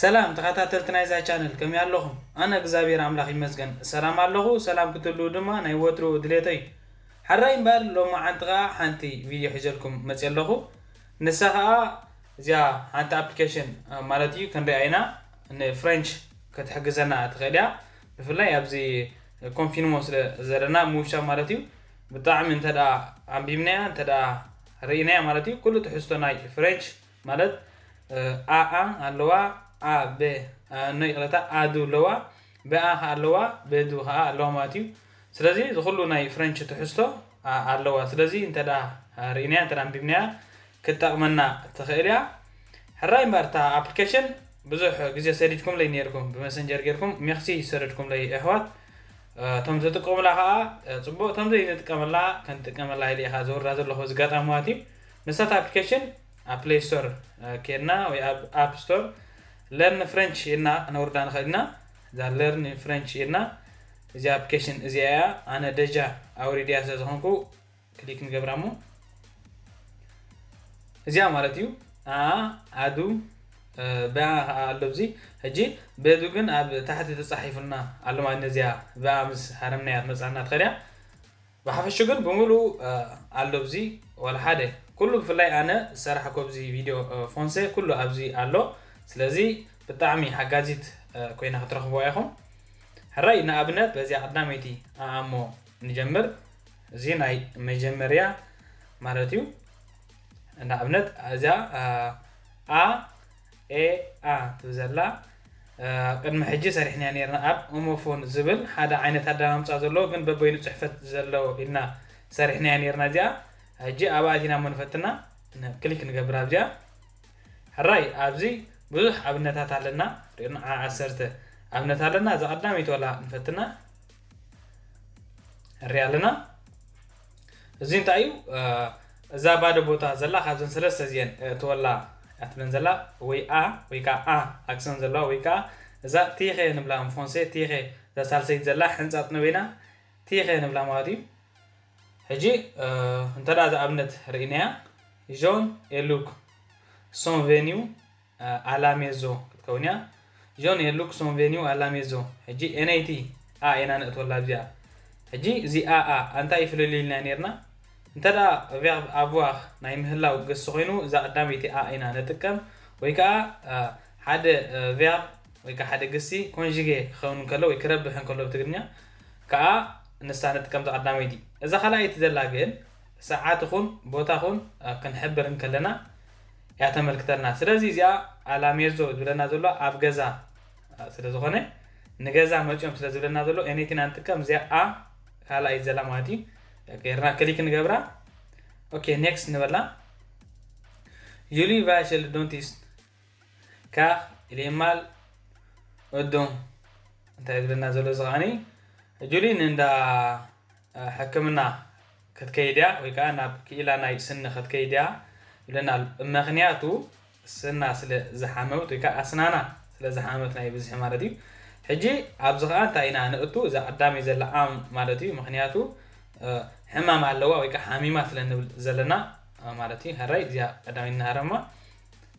ሰላም ተኸታተልቲ ናይዛ ቻነል፣ ከመይ ኣለኹም? ኣነ እግዚኣብሔር ኣምላኽ ይመስገን ሰላም ኣለኹ። ሰላም ክትህልዉ ድማ ናይ ወትሩ ድሌተይ። ሕራይ እምበር ሎማዓንቲ ኸኣ ሓንቲ ቪድዮ ሒዘልኩም መፅየ ኣለኹ። ንሳ ኸኣ እዚኣ ሓንቲ ኣፕሊኬሽን ማለት እዩ፣ ክንሪኣ ኢና። ንፍሬንች ክትሕግዘና ትኽእል እያ። ብፍላይ ኣብዚ ኮንፊንሞ ስለ ዘለና ምውሻብ ማለት እዩ። ብጣዕሚ እንተ ደኣ ኣንቢብናያ፣ እንተ ደኣ ርኢናያ ማለት እዩ፣ ኩሉ ትሕዝቶ ናይ ፍሬንች ማለት ኣኣ ኣለዋ፣ ኣ በ ኖ ይቕረታ፣ ኣዱ ኣለዋ፣ በኣ ከኣ ኣለዋ፣ በዱ ከኣ ኣለዋ ማለት እዩ። ስለዚ እዚ ኩሉ ናይ ፍሬንች ትሕዝቶ ኣለዋ። ስለዚ እንተ ደኣ ርኢናያ፣ እንተ ደኣ ኣንቢብናያ ክትጠቕመና ትኽእል እያ። ሕራይ እምበር እታ ኣፕሊኬሽን ብዙሕ ግዜ ሰዲድኩምለይ ነይርኩም፣ ብመሰንጀር ጌርኩም ሜክሲ ዝሰደድኩምለይ ኣሕዋት፣ እቶም ዝጥቀሙላ ከኣ ጽቡቕ፣ እቶም ዘይንጥቀመላ ከንጥቀመላ ኢለ እየ ከኣ ዘውርዳ ዘለኹ እዚ ኣጋጣሚ ማለት እዩ። ንሳ እታ ኣፕሊኬሽን ኣብ ፕሌይ ስቶር ኬድና ወይ ኣብ ኣፕ ስቶር ለርን ፍሬንች ኢልና ክነውርዳ ንኽእል ኢና። እዛ ለርን ፍሬንች ኢልና፣ እዚኣ ኣፕሊኬሽን እዚኣ እያ። ኣነ ደጃ ኣውሪድያ ስለ ዝኾንኩ ክሊክ ንገብራ እሞ እዚኣ ማለት እዩ። ኣ ኣዱ በኣ ከኣ ኣሎ ኣብዚ። ሕጂ በዱ ግን ኣብ ታሕቲ ተጻሒፉልና ኣሎ ማለት ነዚኣ በኣ ምስ ሃረምናያ ትመጻና ትኸድያ። ብሓፈሹ ግን ብምሉኡ ኣሎ ኣብዚ፣ ዋላ ሓደ ኩሉ። ብፍላይ ኣነ ዝሰራሕኮ ኣብዚ ቪድዮ ፎንሴ ኩሉ ኣብዚ ኣሎ። ስለዚ ብጣዕሚ ሓጋዚት ኮይና ክትረኽብዋ ኢኹም። ሕራይ ንኣብነት በዚኣ ቀዳመይቲ ኣኣሞ ንጀምር። እዚ ናይ መጀመርያ ማለት እዩ። ንኣብነት እዚኣ ኣ ኤ ኣ ትብል ዘላ ቅድሚ ሕጂ ሰሪሕናያ ነርና። ኣብ ኦሞፎን ዝብል ሓደ ዓይነት ኣዳማምፃ ዘለዎ ግን በበይኑ ፅሕፈት ዘለዎ ኢልና ሰሪሕናያ ነርና። እዚኣ ሕጂ ኣብኣ ኣቲና እሞ ንፈትና፣ ክሊክ ንገብር ኣብዚኣ። ሕራይ ኣብዚ ብዙሕ ኣብነታት ኣለና። ሪእና ዓ ዓሰርተ ኣብነት ኣለና። እዛ ቀዳመይቲ ዋላ ንፈትና ንሪኣ ኣለና። እዚ እንታይ እዩ? እዛ ባዶ ቦታ ዘላ ካብዘን ሰለስተ እዚአን እትወላ እያ ትብለን ዘላ፣ ወይ ኣ ወይ ከዓ ኣ ኣክሰን ዘለዋ፣ ወይ ከዓ እዛ ቲኸ ንብላ እንፎንሴ ቲኸ፣ እዛ ሳልሰይቲ ዘላ ሕንፃጥ ንበይና ቲኸ ንብላ ማለት እዩ። ሕጂ እንተ ደኣ እዛ ኣብነት ርኢናያ፣ ጆን ኤሉክ ሶን ቬኒው ኣላሜዞ ክትከውን እያ። ጆን ኤሉክ ሶን ቬኒው ኣላሜዞ። ሕጂ ኤነይቲ ኣ ኢና ነእትወላ ኣብዚኣ። ሕጂ እዚ ኣ ኣ እንታይ እዩ ፍልልይ ኢልና ነርና? እንተ ደኣ ቬርብ ኣቭዋር ናይ ምህላው ግሲ ኮይኑ እዛ ቀዳመይቲ ኣ ኢና ንጥቀም፣ ወይ ከዓ ሓደ ቬርብ ወይ ከዓ ሓደ ግሲ ኮንዥጌ ክኸውን እንከሎ ወይ ክረብሕ እንከሎ ብትግርኛ ከዓ ንሳ ንጥቀም እዛ ቀዳመይቲ። እዛ ካልኣይቲ ዘላ ግን ሰዓት ኹን ቦታ ኹን ክንሕብር እንከለና እያ ተመልክተልና። ስለዚ እዚኣ ኣላሜዞ ዝብለና ዘሎ ኣብ ገዛ ስለ ዝኾነ ንገዛ መፅኦም ስለ ዝብለና ዘሎ ኤነይቲ ኢና ንጥቀም። እዚኣ ኣ ካልኣይቲ ዘላ ማለት እዩ። ጌርና ክሊክ ንገብራ። ኦኬ ኔክስት ንበላ። ዩሊ ቫይሸል ዶንቲስት ካር ኢሌማል ኦዶን እንታይ ዝብለና ዘሎ እዚ ከዓኒ ጁሊ ንእንዳ ሕክምና ክትከይድ እያ ወይ ከዓ ናብ ክኢላ ናይ ስኒ ክትከይድ እያ ይብለና ኣሎ። ምክንያቱ ስና ስለ ዝሓመመት ወይ ከዓ ኣስናና ስለ ዝሓመመት ናይ ብዝሒ ማለት እዩ። ሕጂ ኣብዚ ከዓ እንታይ ኢና ንእቱ እዛ ቀዳመይ ዘላ ኣም ማለት እዩ። ምክንያቱ ሕማም ኣለዋ ወይ ከዓ ሓሚማ ስለ ንብል ዘለና ማለት እዩ። ሕራይ እዚኣ ቀዳመይ እናሃረማ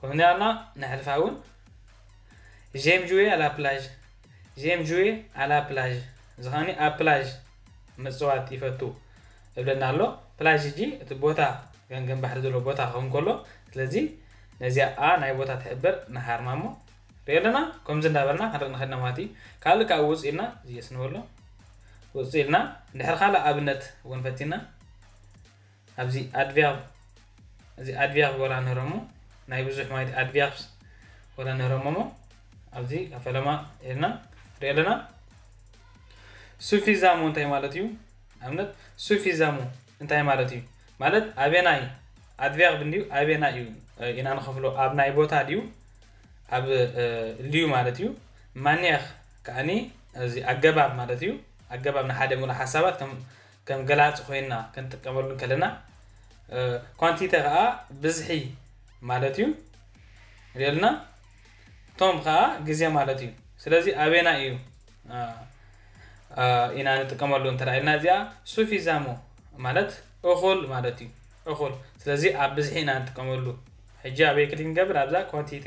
ከምዚ ኣልና ነሕልፋ እውን ጄም ጁዌ ኣላ ፕላዥ ጄም ጁዌ ኣላ ፕላዥ እዚ ከዓኒ ኣብ ፕላዥ ምፅዋት ይፈቱ እብለና ኣሎ። ፕላዥ ሕጂ እቲ ቦታ ገምገም ባሕሪ ዘሎ ቦታ ክኸውን ከሎ ስለዚ ነዚኣ ኣ ናይ ቦታ ትሕብር ንሃርማ እሞ ሪኦ ኣለና። ከምዚ እንዳበልና ክንርኢ ንኽእል ኢና ማለት እዩ። ካልእ ከዓ ውፅ ኢልና ዝየስ ንበሎ ውፅ ኢልና እንድሕር ካልእ ኣብነት እውን ፈቲና ኣብዚ ኣድቬርብ እዚ ኣድቬርብ ወላ ንረሞ ናይ ብዙሕ ማለት ኣድቬርብስ ወላ ንረሞሞ ኣብዚ ፈለማ ኢልና ሪኦ ኣለና። ሱፊዛሞ እንታይ ማለት እዩ? ኣብነት ሱፊዛሞ እንታይ ማለት እዩ? ማለት ኣበናይ ኣድቬርብ እንድዩ ኣበናይ እዩ ኢና ንኸፍሎ ኣብ ናይ ቦታ ድዩ ኣብ ልዩ ማለት እዩ። ማንየር ከዓኒ እዚ ኣገባብ ማለት እዩ። ኣገባብ ንሓደ ሙሉእ ሓሳባት ከም ከም ገላፂ ኮይና ክንጥቀመሉ እንከለና ኳንቲተ ከዓ ብዝሒ ማለት እዩ። ሪኦልና ቶም ከዓ ግዜ ማለት እዩ። ስለዚ ኣበና እዩ ኢና ንጥቀመሉ እንተ ኢልና እዚኣ ሱፊዛሞ ማለት እኹል ማለት እዩ። እኹል ስለዚ ኣብ ብዝሒ ኢና ንጥቀመሉ። ሕጂ ኣበይ ክሊክ ንገብር ኣብዛ ኳንቲተ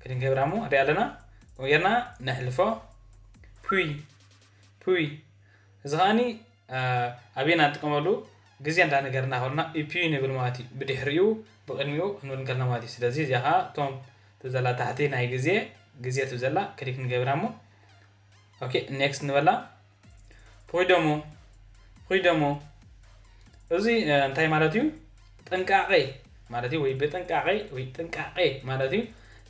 ክሊክ ንገብራ እሞ ንሪኣ ኣለና። ከምኡ ጌርና ነሕልፎ። ፑይ ፑይ። እዚ ከዓኒ ኣበይና ንጥቀመሉ ግዜ እንዳነገርና ከሎና ኢፒዩ ንብል ማለት እዩ። ብድሕሪኡ ብቕድሚኡ ክንብል እንከልና ማለት እዩ። ስለዚ እዚኣ ከዓ እቶም ትብዘላ ታሕቲ ናይ ግዜ ግዜ ትብዘላ ክሊክ ንገብራ እሞ ኦኬ ኔክስት ንበላ። ፕሪደሞ ፕሪደሞ እዚ እንታይ ማለት እዩ? ጥንቃቄ ማለት እዩ፣ ወይ ብጥንቃቄ ወይ ጥንቃቄ ማለት እዩ።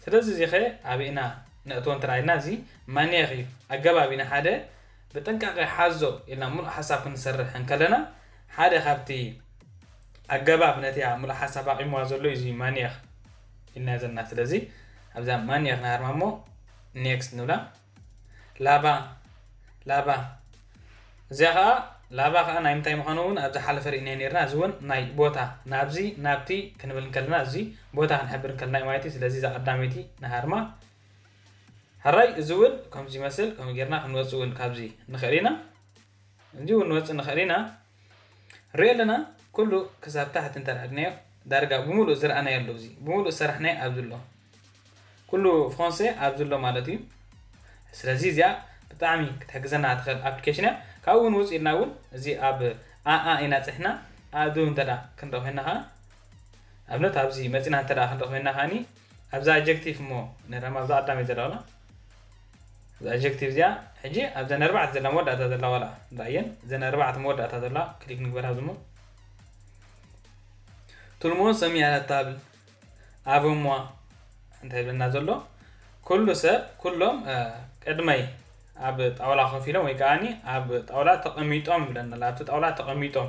ስለዚ እዚ ኸ ኣበይ ኢና ነእትዎ እንተ ኢልና፣ እዚ ማንየኽ እዩ። ኣገባብ ኢና ሓደ ብጥንቃቄ ሓዞ ኢልና ሙሉእ ሓሳብ ክንሰርሕ እንከለና፣ ሓደ ካብቲ ኣገባብ ነቲያ ሙሉእ ሓሳብ ኣቂምዋ ዘሎ እዩ እዚ ማንየኽ ኢልና ዘለና። ስለዚ ኣብዛ ማንየኽ ንሃርማ እሞ ኔክስት ንብላ። ላባ ላባ እዚኣ ከዓ ላባ ከዓ ናይ ምንታይ ምዃኑ እውን ኣብ ዝሓለፈ ርኢና ነርና። እዚ እውን ናይ ቦታ ናብዚ ናብቲ ክንብል እንከለና፣ እዚ ቦታ ክንሕብር እንከለና እዩ ማለት እዩ። ስለዚ እዛ ቀዳመይቲ ንሃርማ። ሕራይ እዚ እውን ከምዚ ይመስል። ከምኡ ጌርና ክንወፅእ እውን ካብዚ ንኽእል ኢና። እዚ እውን ንወፅእ ንኽእል ኢና። ንሪኦ ኣለና ኩሉ ክሳብ ታሕቲ እንተ ደኣ ድናዮ ዳርጋ ብምሉእ ዝረኣናዮ ኣሎ። እዚ ብምሉእ ዝሰራሕናዮ ኣብዚ ኣሎ። ኩሉ ፍራንሴ ኣብዚ ኣሎ ማለት እዩ። ስለዚ እዚኣ ብጣዕሚ ክትሕግዘና ትኽእል ኣፕሊኬሽን እያ። ካብኡ እውን ውፅእ ኢልና እውን እዚ ኣብ ኣኣ ኢና ፅሕና ኣዱ እንተ ደኣ ክንርኢ ኮይና ከዓ ኣብነት ኣብዚ መፂና እንተ ደኣ ክንርኢ ኮይና ከዓኒ ኣብዛ ኣጀክቲቭ እሞ ንረማ ኣብዛ ቀዳመይ ዘለዋላ እዛ ኣጀክቲቭ እዚኣ ሕጂ ኣብዘን ኣርባዕተ ዘላ መወዳእታ ዘላ ዋላ ንረኣየን እዘን ኣርባዕተ መወዳእታ ዘላ ክሊክ ንግበር ኣብዚ እሞ ቱልሞን ሰሚያ ታብል ኣቨ ሞዋ እንታይ ይብለና ዘሎ? ኩሉ ሰብ ኩሎም ቅድመይ ኣብ ጣውላ ኮፍ ኢሎም ወይ ከዓኒ ኣብ ጣውላ ተቐሚጦም ይብለና ኣሎ። ኣብቲ ጣውላ ተቐሚጦም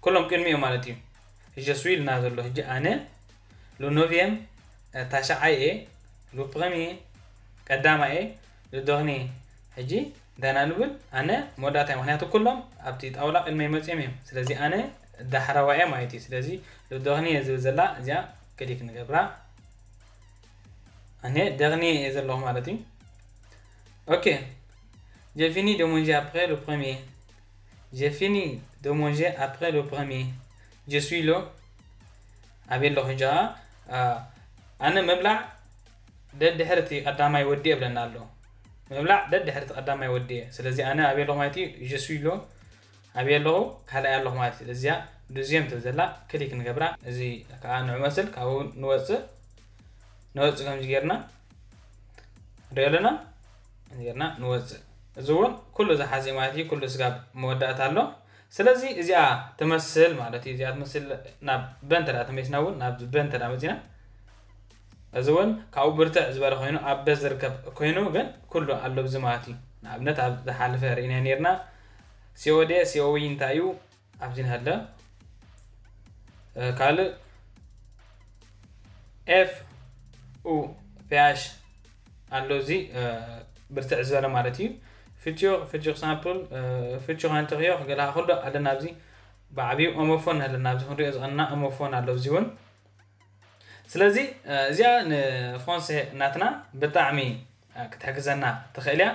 ኩሎም ቅድሚኦም ማለት እዩ። ጀስዊ ኢልና ዘሎ ሕጂ ኣነ ሉኖቪየም ታሽዓይ እየ፣ ሉፕረምየ ቀዳማይ እየ፣ ሉዶርኒ ሕጂ እንታይ ኢና ንብል ኣነ መወዳእታ እየ። ምክንያቱ ኩሎም ኣብቲ ጣውላ ቅድመይ መፅዮም እዮም። ስለዚ ኣነ ዳሕረዋይ እየ ማለት እዩ። ስለዚ ሉዶርኒ እየ ዝብል ዘላ እዚኣ ክሊክ ንገብራ። ኣነ ደርኒ እየ ዘለኹ ማለት እዩ። ኦኬ j'ai fini de manger après le premier j'ai fini de manger après le premier je suis là ኣበይ ኣለኹ ሕጂ ኣነ ምብላዕ ደድሕርቲ ቀዳማይ ወዲ የብለና ኣሎ ምብላዕ ደድሕርቲ ቀዳማይ ወዲ እየ ስለዚ ኣነ ኣበይ ኣለኹ ማለት እዩ je suis là ኣበይ ኣለኹ ካልኣይ ኣለኹ ማለት እዩ እዚኣ ዱዝየም ትብል ዘላ ክሊክ ንገብራ እዚ ከዓ ንዑ መስል ካብኡ ንወፅእ ንወፅእ ከምዚ ጌርና ንሪኦ ኣለና ጌርና ንወፅእ እዚ እውን ኩሉ ዝሓዘ ማለት እዩ ኩሉ ስጋብ መወዳእታ ኣሎ ስለዚ እዚኣ ትመስል ማለት እዩ እዚኣ ትመስል ናብ በንተ ዳ ተመይስና እውን ናብ በንተ ዳ መፂና እዚ እውን ካብኡ ብርትዕ ዝበለ ኮይኑ ኣብ በ ዝርከብ ኮይኑ ግን ኩሉ ኣሎ ብዚ ማለት እዩ ንኣብነት ኣብ ዝሓለፈ ርኢና ነርና ሲኦዴ ሲኦዊ እንታይ እዩ ኣብዚ ንሃለ ካልእ ኤፍ ኡ ፒያሽ ኣሎ እዚ ብርትዕ ዝበለ ማለት እዩ futur futur simple futur antérieur ገላ ኩሉ ኣለና ኣብዚ ብዓብዩ ኦሞፎን ኣለና ኣብዚ ክንሪኦ ዝቐና ኦሞፎን ኣሎ እዚ እውን ስለዚ እዚኣ ንፍራንሴ ናትና ብጣዕሚ ክትሕግዘና ትኽእል እያ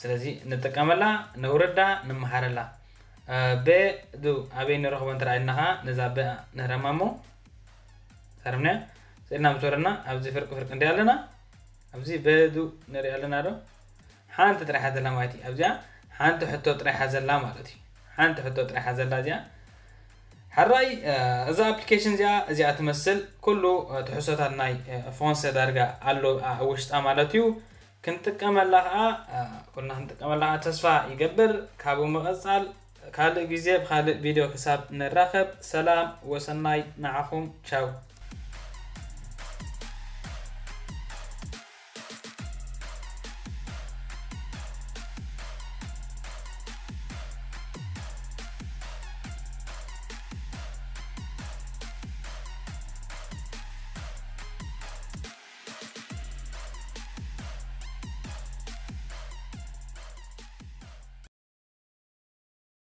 ስለዚ ንጥቀመላ ነውርዳ ንመሃረላ በ ዱ ኣበይ ንረኽቦ እንተ ኢልና ከዓ ነዛ በ ንህረማ እሞ ሳርምንያ ስእልና ምስ ወረድና ኣብዚ ፍርቂ ፍርቂ እንዲ ኣለና ኣብዚ በ ዱ ንርኢ ኣለና ዶ ሓንቲ ጥራሕ ዘላ ማለት እዩ ኣብዚኣ ሓንቲ ሕቶ ጥራሕ ዘላ ማለት እዩ ሓንቲ ሕቶ ጥራሕ ዘላ እዚኣ ሕራይ እዛ ኣፕሊኬሽን እዚኣ እዚኣ ትመስል ኩሉ ትሕሶታት ናይ ፍራንሰ ዳርጋ ኣሎ ኣብ ውሽጣ ማለት እዩ ክንጥቀመላ ከዓ ኩልና ክንጥቀመላ ከዓ ተስፋ ይገብር ካብኡ ምቐፃል ካልእ ግዜ ብካልእ ቪድዮ ክሳብ ንራኸብ ሰላም ወሰናይ ንዓኹም ቻው